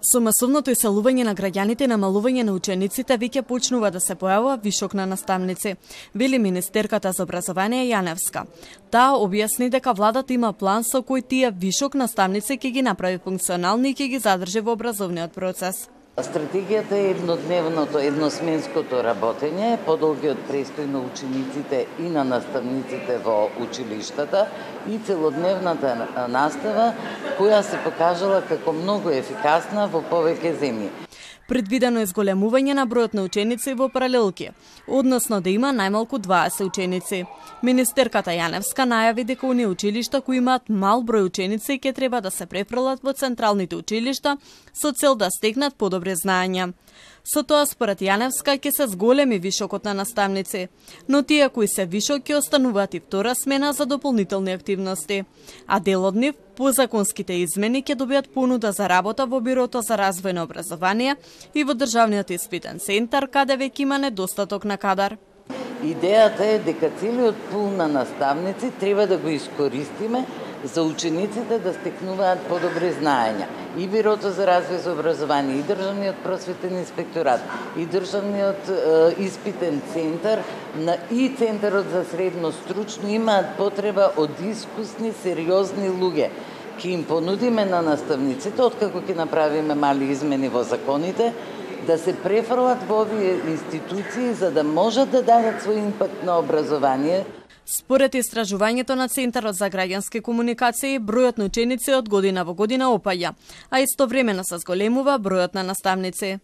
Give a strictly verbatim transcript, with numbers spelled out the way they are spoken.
Со масовното иселување на граѓаните и намалување на учениците веќе почнува да се појавува вишок на наставници, вели министерката за образование Јаневска. Таа објасни дека владата има план со кој тие вишок наставници ќе ги направи функционални и ќе ги задржи во образовниот процес. Стратегијата е еднодневното, едносменското работење, подолгиот престој на учениците и на наставниците во училиштата и целодневната настава, која се покажала како многу ефикасна во повеќе земји. Предвидено е зголемување на бројот на ученици во паралелки, односно да има најмалку дваесет ученици. Министерката Јаневска најави дека оние училишта кои имаат мал број ученици ќе треба да се префрлат во централните училишта со цел да стекнат подобри знаења. Со тоа, според Јаневска, ќе се зголеми вишокот на наставници, но тие кои се вишок ќе остануваат и втора смена за дополнителни активности, а дел од нив по законските измени ќе добијат понуда за работа во Бирото за развој на образование и во Државниот испитен центар, каде веќе има недостаток на кадар. Идејата е дека целиот пул на наставници треба да го искористиме за учениците да стекнуваат подобри знаења. И Бирото за развој за образование, и Државниот просветен инспекторат, и Државниот е, испитен центар, и Центарот за средно стручно имаат потреба од искусни, сериозни луѓе. Ке им понудиме на наставниците, откако ќе направиме мали измени во законите, да се префрлат во овие институции за да можат да дадат свој импакт на образование. Според истражувањето на Центарот за граѓански комуникации, бројот на ученици од година во година опаѓа, а истовремено се зголемува бројот на наставници.